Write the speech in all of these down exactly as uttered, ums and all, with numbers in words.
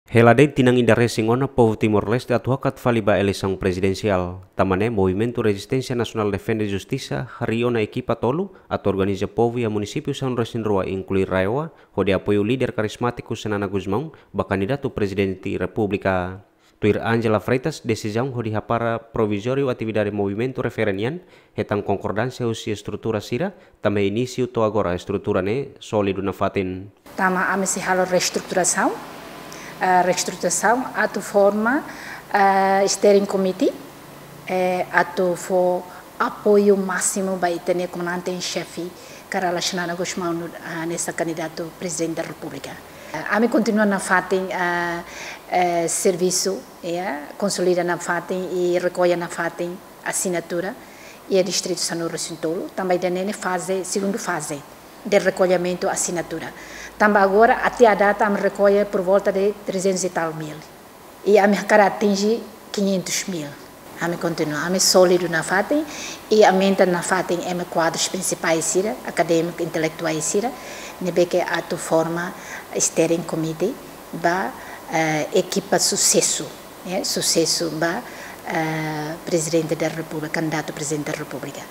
Hela de'it tinan ida resin ona povu Timor-Leste atu hakat fali ba eleisaun prezidensiál. Tanba ne'e Movimentu Rezisténsia Nasionál Defende Justisa harii ona ekipa tolu atu organiza povu iha munisípiu sanulu resin rua, inklui RAEOA, hodi apoiu líder karizmátiku Xanana Gusmão ba kandidatu Prezidente Repúblika. Tuir Ángela Freitas, desizaun hodi hapara provizóriu atividade movimentu refere nian, hetan konkordánsia husi estrutura sira, tanba inísiu to'o agora estrutura ne'e sólidu nafatin. Tanba ami sei halo reestruturasaun, eh, reestruturasaun atu forma, eh, steering committee, eh, atu fó apoiu másimu ba ita-nia komandante en xefe, Kay Rala Xanana Gusmão, ah, hanesan kandidatu Prezidente da Repúblika. Ah, ami kontinua nafatin, ah, eh, servisu, ya, konsolida nafatin i rekolla nafatin asinatura iha distritu sanulu resin tolu, tanba ida-ne'e ne'e faze, segundu faze de rekollimentu asinatura. Tanba agora, até à data, ami rekolla por volta de trezentos e tal mil. I ami hakarak atinje quinhentos mil. Ami kontinua, ami sólidu nafatin, i aumenta nafatin ema kuadrus prinsipais sira, akadémiku, intelektuál sira, ne'ebé ke atu forma steering committee ba, eh, ekipa susesu, eh, susesu ba, eh, Prezidente da Repúblika, kandidatu Prezidente da Repúblika.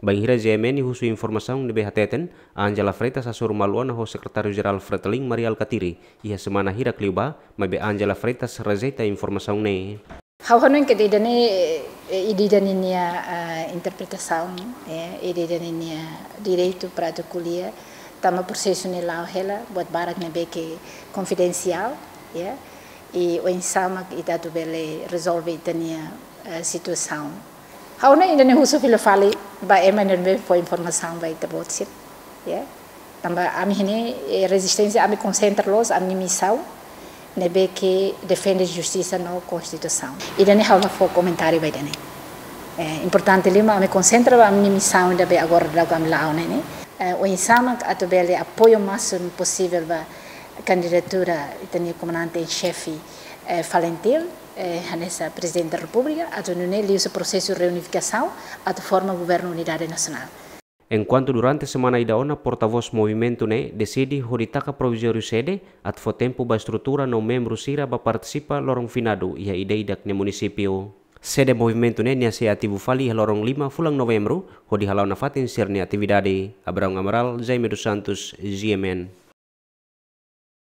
Bainhira G M N husu informasaun ne'ebé hateten, Ángela Freitas hasoru malu ona ho Sekretáriu Jerál Fretilin Mari Alkatiri, iha semana hirak liubá, maibé Ángela Freitas rejeita informasaun ne'e. Ha'u hanoin katak ida-ne'e, eh, ida-idak ninia, ah, interpretasaun, eh, ida-idak ninia direitu para atu ko'alia, tanba prosesu ne'e la'o hela, buat barak ne'ebé ke konfidensiál, ya, i oinsá mak ita atu bele rezolve ita-nia, eh, situasaun. Ha'u hanoin ida-ne'e husu fila fali ba ema ne'ebé fó informasaun ba ita-boot sira, ya. Tanba ami iha ne'e, eh, rezisténsia, ami konsentra loos ami-nia misaun ne'ebé ke defende justisa no konstituisaun. Ida-ne'e ha'u la fó komentáriu ba ida-ne'e. Eh, importante liu mak ami konsentra ba ami-nia misaun ida be agora daudauk ami la'o ne'e, ne'e. Eh, oinsá mak atu bele apoiu másimu posivel ba kandidatura ita-nia komandante en xefe, eh, FALINTIL, eh, hanesan Prezidente da Repúblika, atu nune'e liuhusi prosesu reunifikasaun, atu forma governu unidade nasionál. Enkuantu durante semana ida ona portavós movimentu ne'e deside hodi taka provizóriu sede, atu fó tempu ba estrutura no membru sira ba partisipa loron finadu iha ida-idak nia munisípiu. Sede movimentu ne'e nia sei ativu fali iha loron lima fulan Novembru, hodi hala'o nafatin sira-nia atividade. Abraão Amaral, Jaime dos Santos, G M N.